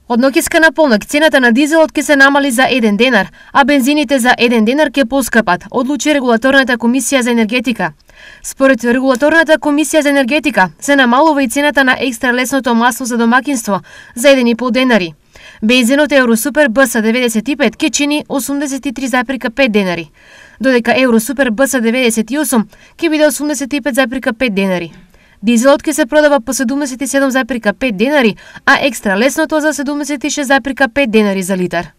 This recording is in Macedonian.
Од ноќ искана полнок, цената на дизелот ќе се намали за 1 денар, а бензините за 1 денар ќе поскапат, одлучи Регулаторната комисија за енергетика. Според Регулаторната комисија за енергетика, се намалува и цената на екстра лесното масло за домакинство за 1,5 денари. Бензинот Евросупер БС 95 ќе чини 83,5 денари, додека Евросупер БС 98 ќе биде 85,5 денари. Дизелот ќе се продава по 77,5 денари, а екстра лесното за 76,5 денари за литар.